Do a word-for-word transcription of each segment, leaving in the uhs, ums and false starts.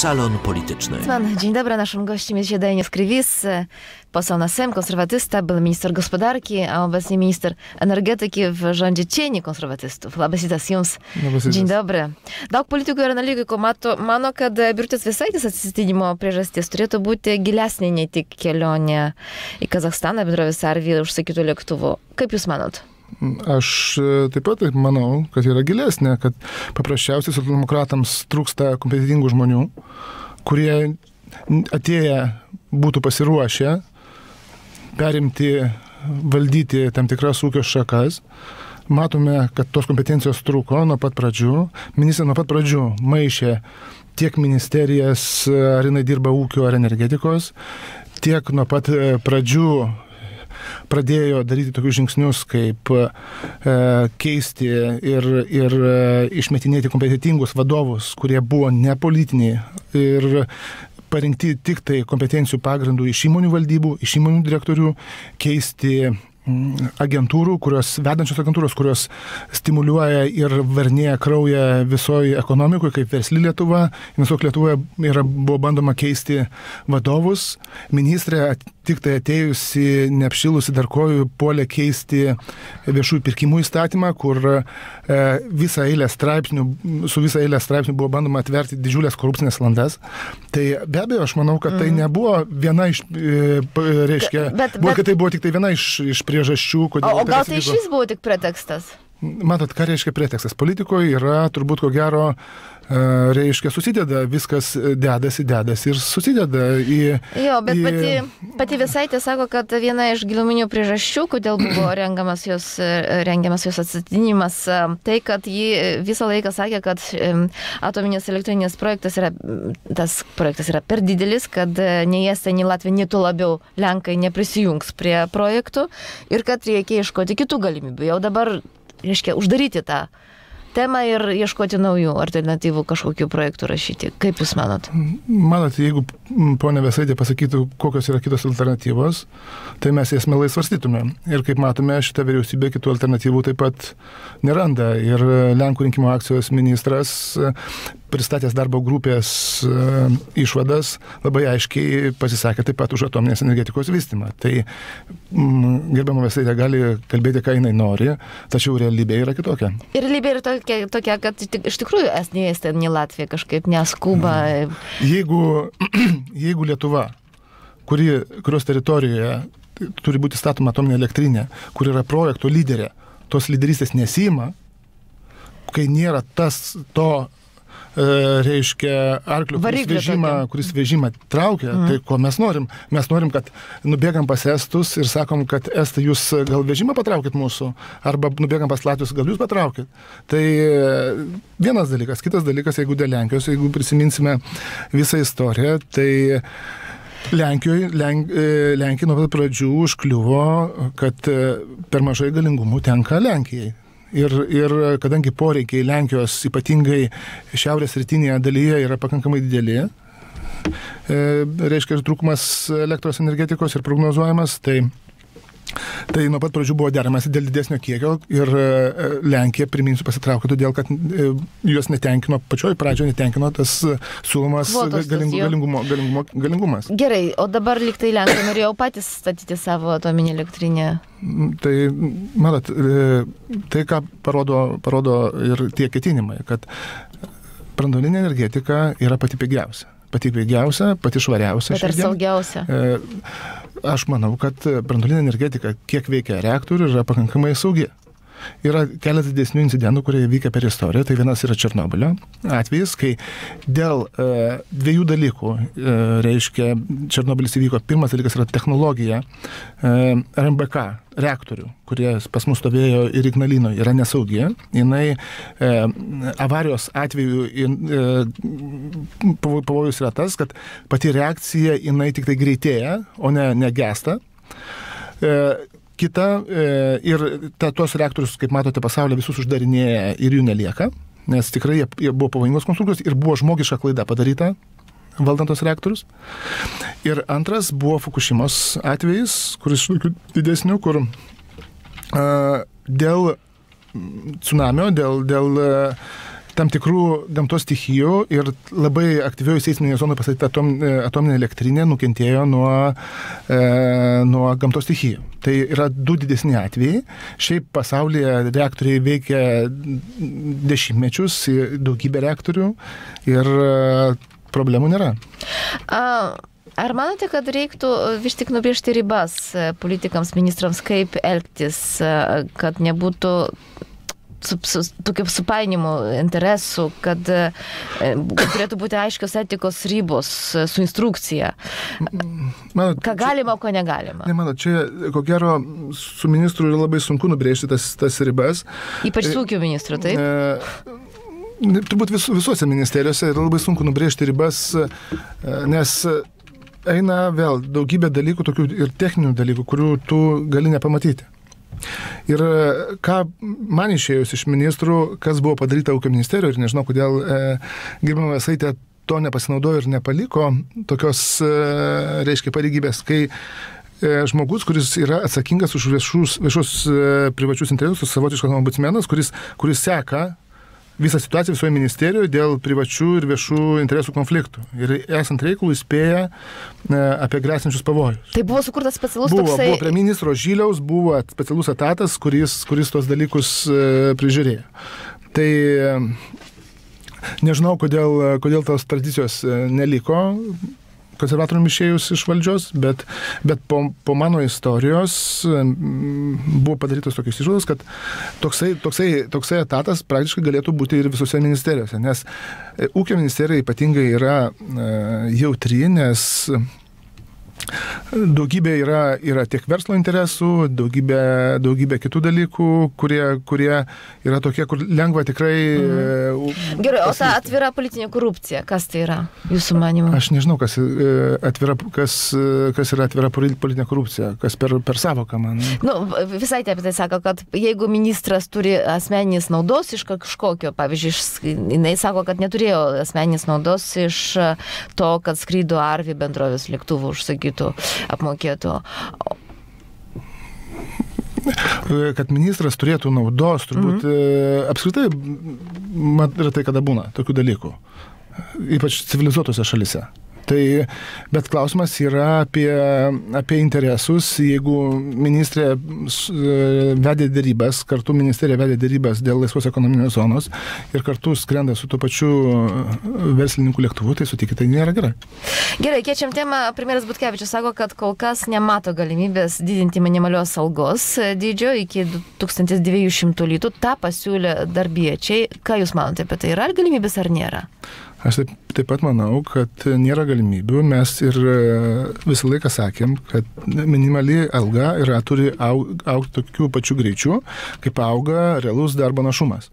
Salon Polityczny. Dzień dobry, naszym gościem jest Zjedajnie Krywis, poseł na Sejm, konserwatysta, był minister gospodarki, a obecnie minister energetyki w rządzie cieni konserwatystów. Labas rytas jums. Dzień dobry. Daug politikų ir analitikai mato, mano, kad Birutės Vėsaitės atsistatydinimo priežastis turėtų būti gilesnė nei tik kelionė į Kazachstaną bendrovės Arvi užsakytų lėktuvų. Kaip jūs manot? Aš taip pat taip manau, kad yra gilesnė, kad paprasčiausiai socialdemokratams trūksta kompetentingų žmonių, kurie atėję būtų pasiruošę perimti, valdyti tam tikras ūkio šakas. Matome, kad tos kompetencijos trūko nuo pat pradžių. Ministrė nuo pat pradžių maišė tiek ministerijas, ar jinai dirba ūkio ar energetikos, tiek nuo pat pradžių pradėjo daryti tokius žingsnius, kaip e, keisti ir, ir e, išmetinėti kompetentingus vadovus, kurie buvo nepolitiniai ir parinkti tik tai kompetencijų pagrindų iš įmonių valdybų, iš įmonių direktorių, keisti agentūrų, kurios, vedančios agentūros, kurios stimuliuoja ir varnėja kraują visoje ekonomikoje, kaip Versli Lietuva. Investuok Lietuvoje yra, buvo bandoma keisti vadovus. Ministrė tik tai atėjusi, neapšilusi dar kojų, puolė keisti viešųjų pirkimų įstatymą, kur e, visą eilę straipsnių, su visą eilę straipsnių buvo bandoma atverti didžiulės korupcinės landas. Tai be abejo, aš manau, kad tai nebuvo viena iš, e, reiškia, bet, buvo, bet... kad tai buvo tik tai viena iš, iš priežasčių, kodėl... O, o gal tai šis buvo tik pretekstas? Matot, ką reiškia pretekstas? Politikoje yra turbūt ko gero, reiškia, susideda, viskas dedasi, dedasi ir susideda į... Jo, bet į... pati, pati Vėsaitė sako, kad viena iš giluminių priežasčių, kodėl buvo rengiamas jos, rengiamas jos atsitikinimas, tai, kad ji visą laiką sakė, kad atominės elektrinės projektas yra, tas projektas yra per didelis, kad nei Estai, nei Latvija, nei tuo labiau Lenkai neprisijungs prie projektų ir kad reikia ieškoti kitų galimybių. Jau dabar, reiškia, uždaryti tą temą ir ieškoti naujų alternatyvų kažkokių projektų rašyti. Kaip jūs manot? Manot, jeigu ponia Vėsaitė pasakytų, kokios yra kitos alternatyvos, tai mes jas mielai svarstytume. Ir kaip matome, šita vyriausybė kitų alternatyvų taip pat neranda. Ir Lenkų rinkimų akcijos ministras, pristatęs darbo grupės išvadas, labai aiškiai pasisakė taip pat už atominės energetikos vystymą. Tai gerbiama Vėsaitė gali kalbėti, ką jinai nori, tačiau realybė yra kitokia. Ir realybė yra tokia, tokia kad iš tikrųjų nei Estai, nei Latvija kažkaip neskuba. Jeigu, jeigu Lietuva, kuri, kurios teritorijoje turi būti statoma atominė elektrinė, kur yra projekto lyderė, tos lyderystės nesima, kai nėra tas to reiškia arklių, kuris vežimą, kuris vežimą traukia, mm. tai ko mes norim? Mes norim, kad nubėgam pas Estus ir sakom, kad Estai, jūs gal vežimą patraukit mūsų, arba nubėgam pas Latvius, gal jūs patraukit. Tai vienas dalykas. Kitas dalykas, jeigu dėl Lenkijos, jeigu prisiminsime visą istoriją, tai Lenkijoje, Lenk, Lenkija nuo pat pradžių užkliuvo, kad per mažai galingumų tenka Lenkijai. Ir, ir kadangi poreikiai Lenkijos, ypatingai šiaurės rytinėje dalyje, yra pakankamai dideli, e, reiškia ir trūkumas elektros energetikos ir prognozuojamas, tai, tai nuo pat pradžių buvo deramas dėl didesnio kiekio ir Lenkija, priminsiu, pasitraukė, todėl kad juos netenkino, pačioj pradžioje netenkino tas siūlomas galingu, galingumo, galingumo, galingumas. Gerai, o dabar lyg tai Lenkai norėjo patys statyti savo atominę elektrinę. Tai, matot, tai ką parodo, parodo ir tie ketinimai, kad branduolinė energetika yra pati pigiausia. Pati pigiausia, pati švariausia. Bet ar saugiausia? Aš manau, kad branduolinė energetika, kiek veikia reaktorių, yra pakankamai saugi. Yra keletas didesnių incidentų, kurie vykę per istoriją. Tai vienas yra Černobylio atvejis, kai dėl e, dviejų dalykų, e, reiškia, Černobylis įvyko. Pirmas dalykas yra technologija, e, R M B K reaktorių, kurie pas mus stovėjo ir Ignalinoje, yra nesaugi. Jinai e, avarijos atveju e, pavojus yra tas, kad pati reakcija jinai tik tai greitėja, o ne negesta. E, Kita, e, ir ta, tuos reaktorius, kaip matote, pasaulyje visus uždarinėja ir jų nelieka, nes tikrai jie, jie buvo pavojingos konstrukcijos ir buvo žmogiška klaida padaryta valdant tos reaktorius. Ir antras buvo Fukushimos atvejis, kuris didesnių, kur a, dėl tsunamio, dėl, dėl tam tikrų gamtos stichijų ir labai aktyvioje seisminėje zonoje pastatyta atom, atominė elektrinė nukentėjo nuo, e, nuo gamtos stichijų. Tai yra du didesni atvejai. Šiaip pasaulyje reaktoriai veikia dešimtmečius, daugybė reaktorių ir problemų nėra. A... Ar manote, kad reiktų vis tik nubrėžti ribas politikams, ministrams, kaip elgtis, kad nebūtų su, su, tokių supainimų interesų, kad, kad turėtų būti aiškios etikos ribos su instrukcija? Manot, ką galima, o ko negalima? Ne, manot, čia, ko gero, su ministru yra labai sunku nubrėžti tas, tas ribas. Ypač su ūkio ministru, taip? E, turbūt vis, visuose ministerijose yra labai sunku nubrėžti ribas, nes eina vėl daugybė dalykų, tokių ir techninių dalykų, kurių tu gali nepamatyti. Ir ką man išėjus iš ministrų, kas buvo padaryta ūkio ministerijoje, ir nežinau, kodėl e, gerbiama Vėsaitė to nepasinaudojo ir nepaliko tokios, e, reiškia, pareigybės, kai e, žmogus, kuris yra atsakingas už viešus, viešus e, privačius interesus, savotiškas ombudsmenas, kuris, kuris seka visą situaciją visoje ministerijoje dėl privačių ir viešų interesų konfliktų. Ir esant reikalų įspėja apie grėsinčius pavojus. Tai buvo sukurtas specialus buvo, toksai... Buvo prie ministro Žyliaus, buvo specialus etatas, kuris, kuris tos dalykus prižiūrėjo. Tai nežinau, kodėl, kodėl tos tradicijos neliko konservatorium išėjus iš valdžios, bet, bet po, po mano istorijos buvo padarytos tokios išvados, kad toksai, toksai, toksai etatas praktiškai galėtų būti ir visose ministerijose, nes ūkio ministerija ypatingai yra jautri, nes daugybė yra, yra tiek verslo interesų, daugybė, daugybė kitų dalykų, kurie, kurie yra tokie, kur lengva tikrai... Mhm. Gerai, o ta atvira politinė korupcija, kas tai yra, jūsų manimo? Aš nežinau, kas, atvira, kas, kas yra atvira politinė korupcija, kas per, per savoką man. Nu, visai apie tai sako, kad jeigu ministras turi asmeninės naudos iš kažkokio, pavyzdžiui, jinai sako, kad neturėjo asmeninės naudos iš to, kad skrydo Arvi bendrovės lėktuvų užsakytų apmokėtų. Kad ministras turėtų naudos, turbūt mm-hmm. apskritai yra tai, kada būna tokių dalykų, ypač civilizuotose šalise. Tai, bet klausimas yra apie, apie interesus. Jeigu ministrė vedė dėrybas, kartu ministerija vedė dėrybas dėl laisvos ekonominės zonos ir kartu skrenda su tuo pačiu verslininkų lėktuvu, tai sutikite, tai nėra gerai. Gerai, keičiam temą. Premjeras Butkevičius sako, kad kol kas nemato galimybės didinti minimalios algos dydžio iki du tūkstančiai dviejų šimtų litų. Ta pasiūlė darbiečiai. Ką jūs manote apie tai? Yra galimybės ar nėra? Aš taip, taip pat manau, kad nėra galimybių. Mes ir visą laiką sakėm, kad minimali alga yra, turi augti aug tokių pačių greičių, kaip auga realus darbo našumas.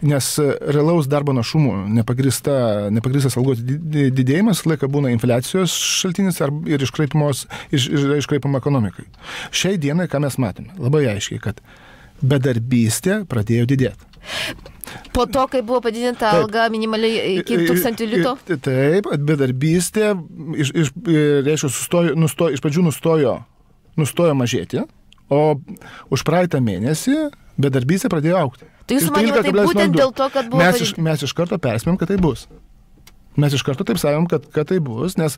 Nes realaus darbo našumų nepagrįsta, nepagrįstas algos didėjimas laiką būna infliacijos šaltinis ir iškraipimos, iš, iškraipimo ekonomikai. Šiai dienai, ką mes matome, labai aiškiai, kad bedarbystė pradėjo didėti. Po to, kai buvo padidinta taip, alga minimaliai iki tūkstančio litų? Taip, bedarbystė iš, iš, reiškia, sustojo, nustojo, iš pradžių nustojo, nustojo mažėti, o už praeitą mėnesį bedarbystė pradėjo aukti. Tai jūs manėte, tai būtent dėl to, kad buvo... Mes iš, mes iš karto perspėjom, kad tai bus. Mes iš karto taip sakom, kad, kad tai bus, nes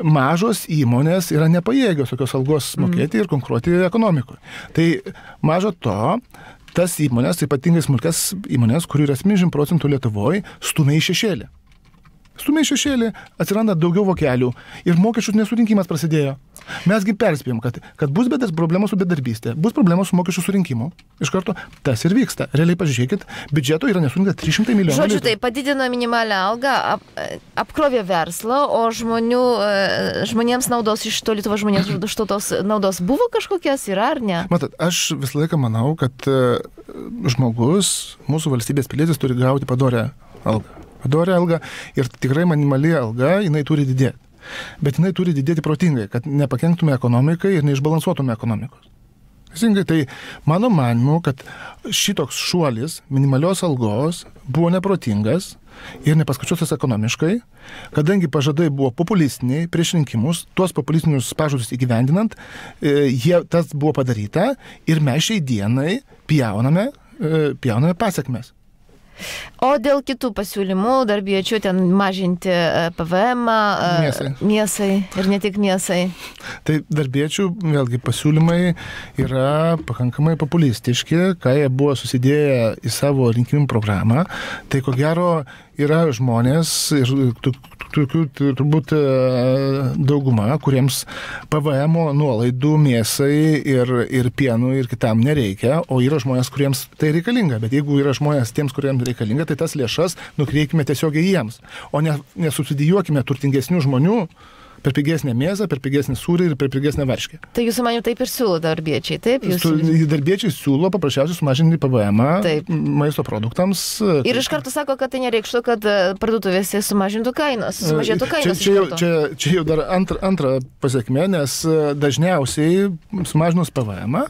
mažos įmonės yra nepajėgios tokios algos mokėti mm. ir konkuruoti ekonomikoje. Tai mažo to, tas įmonės, ypatingai smulkias įmonės, kurių yra septyniasdešimt procentų Lietuvoje, stumia į šešėlį. Stumia į šešėlį, atsiranda daugiau vokelių ir mokesčių nesurinkimas prasidėjo. Mesgi perspėjom, kad, kad bus bedas problemos su bedarbystė, bus problemos su mokesčių surinkimu. Iš karto tas ir vyksta. Realiai pažiūrėkit, biudžeto yra nesurinkta trys šimtai milijonų. Žodžiu, tai padidino minimalią algą, ap, apkrovė verslą, o žmonių, žmonėms naudos iš to Lietuvos žmonėms iš to tos naudos buvo kažkokias, yra ar ne? Matot, aš visą laiką manau, kad žmogus, mūsų valstybės pilietis turi gauti padorę algą. Padorę algą ir tikrai minimali alga, jinai turi didėti. Bet jinai turi didėti protingai, kad nepakenktume ekonomikai ir neišbalansuotume ekonomikos. Teisingai, tai mano manimu, kad šitoks šuolis minimalios algos buvo neprotingas ir nepaskaičiuotas ekonomiškai, kadangi pažadai buvo populistiniai prieš rinkimus, tuos populistinius pažadus įgyvendinant, jie, tas buvo padaryta ir mes šiai dienai pjauname, pjauname pasiekmes. O dėl kitų pasiūlymų darbiečių ten mažinti P V M mėsai. mėsai ir ne tik mėsai. Tai darbiečių vėlgi pasiūlymai yra pakankamai populistiški, ką jie buvo susidėję į savo rinkimų programą. Tai ko gero yra žmonės ir tokių turbūt dauguma, kuriems P V M nuolaidų mėsai ir, ir pienų ir kitam nereikia, o yra žmonės, kuriems tai reikalinga. Bet jeigu yra žmonės tiems, kuriems reikalinga, tai tas lėšas nukreipkime tiesiogiai jiems, o ne, nesubsidijuokime turtingesnių žmonių per pigesnę mėsą, per pigesnį sūrį ir per pigesnę varškę. Tai jūsų manimu taip ir siūlo darbiečiai, taip? Jūs... Darbiečiai siūlo paprasčiausiai sumažinti P V M maisto produktams. Ir iš karto sako, kad tai nereikštų, kad parduotuvėse sumažintų kainos, sumažėtų kainos. Čia, čia, jau, čia, čia jau dar antra, antra pasiekmė, nes dažniausiai sumažinus P V M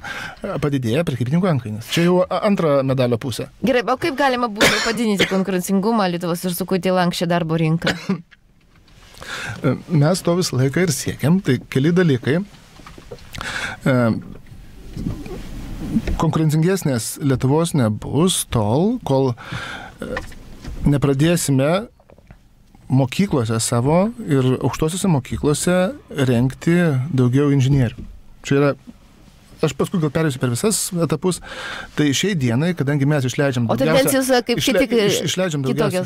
padidėja prekybininkų antkainis. Čia jau antra medalio pusė. Gerai, o kaip galima būtų padidinti konkurencingumą Lietuvos ir sukurti lanksčią darbo rinką? Mes to visą laiką ir siekiam, tai keli dalykai. Konkurencingesnės Lietuvos nebus tol, kol nepradėsime mokyklose savo ir aukštosiuose mokyklose rengti daugiau inžinierių. Čia yra, aš paskui gal perėsiu per visas etapus, tai šiai dienai, kadangi mes išleidžiam daugiausia... O tendencijos kaip išle, tik iš, išleidžiam daugiausia,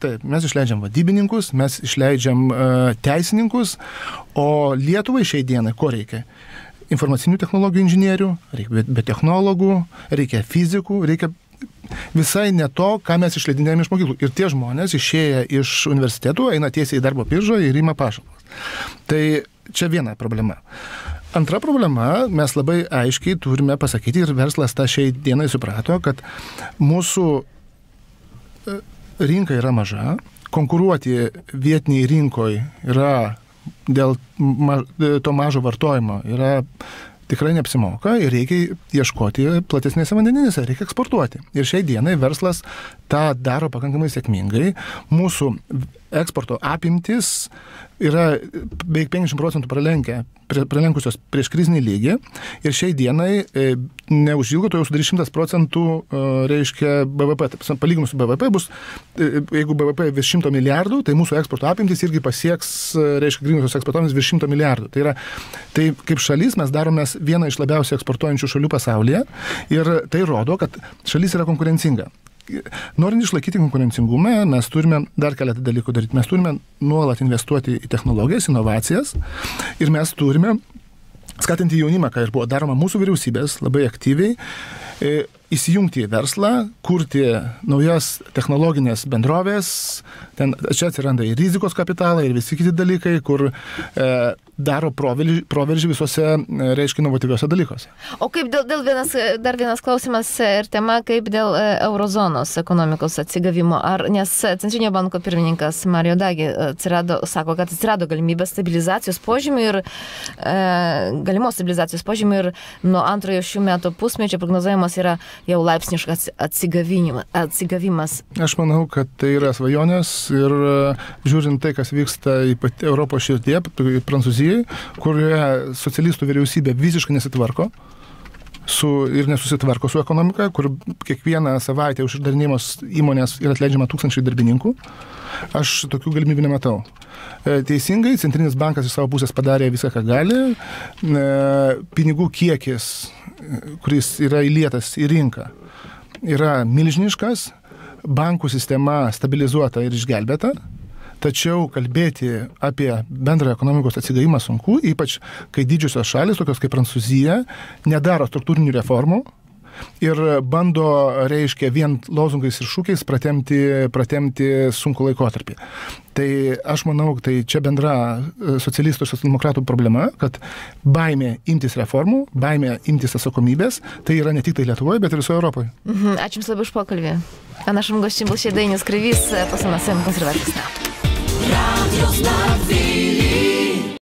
taip, mes išleidžiam vadybininkus, mes išleidžiam uh, teisininkus, o Lietuvai šiai dienai ko reikia? Informacinių technologijų inžinierių, reikia biotechnologų, reikia fizikų, reikia visai ne to, ką mes išleidinėjame iš mokyklų. Ir tie žmonės išėję iš universitetų eina tiesiai į darbo biržą ir ima pašalpas. Tai čia viena problema. Antra problema, mes labai aiškiai turime pasakyti ir verslas tą šiai dienai suprato, kad mūsų rinka yra maža, konkuruoti vietiniai rinkoje yra dėl ma, to mažo vartojimo yra tikrai neapsimoka ir reikia ieškoti platesnėse vandeninėse, reikia eksportuoti. Ir šiai dienai verslas tą daro pakankamai sėkmingai. Mūsų eksporto apimtis yra beveik penkiasdešimt procentų pralenkę, pralenkusios prieš krizinį lygį ir šiai dienai e, neužilgo to jau sudarys šimtas procentų e, reiškia B V P. Palyginus su B V P bus, e, jeigu B V P virš šimto milijardų, tai mūsų eksporto apimtis irgi pasieks, reiškia, grynosios eksportuomis virš šimto milijardų. Tai yra, tai kaip šalis mes daromės vieną iš labiausiai eksportuojančių šalių pasaulyje ir tai rodo, kad šalis yra konkurencinga. Norint išlaikyti konkurencingumą, mes turime dar keletą dalykų daryti. Mes turime nuolat investuoti į technologijas, inovacijas ir mes turime skatinti jaunimą, ką ir buvo daroma mūsų vyriausybės labai aktyviai, įsijungti į verslą, kurti naujas technologinės bendrovės, ten čia atsiranda ir rizikos kapitalai, ir visi kiti dalykai, kur e, daro proveržį, proveržį visose, e, reiškia, inovatyviuose dalykuose. O kaip dėl, dėl vienas, dar vienas klausimas ir tema, kaip dėl e, eurozonos ekonomikos atsigavimo, ar, nes Centrinio banko pirmininkas Mario Draghi atsirado, sako, kad atsirado galimybė stabilizacijos požymių ir e, galimos stabilizacijos požymių ir nuo antrojo šių metų pusmečio prognozuojamas yra jau laipsniškas atsigavimas. Aš manau, kad tai yra svajonės ir žiūrint tai, kas vyksta į Europos širdyje, Prancūzijai, kurioje socialistų vyriausybė visiškai nesitvarko su, ir nesusitvarko su ekonomika, kur kiekvieną savaitę uždarinėjamos įmonės yra atleidžiama tūkstančiai darbininkų. Aš tokių galimybių nematau. Teisingai, Centrinis bankas iš savo pusės padarė viską, ką gali. Pinigų kiekis, kuris yra įlietas į rinką, yra milžiniškas, bankų sistema stabilizuota ir išgelbėta, tačiau kalbėti apie bendrą ekonomikos atsigavimą sunku, ypač kai didžiosios šalis, tokios kaip Prancūzija, nedaro struktūrinių reformų ir bando, reiškia, vien lozungais ir šūkiais pratemti, pratemti sunku laikotarpį. Tai aš manau, tai čia bendra socialistų ir socialdemokratų problema, kad baimė imtis reformų, baimė imtis atsakomybės, tai yra ne tik tai Lietuvoje, bet ir visoje Europoje. Mhm, ačiū Jums labai už pokalbį. A naszym gościem był dzisiaj Dainius Krywis, poseł na Sejm Konserwatystów.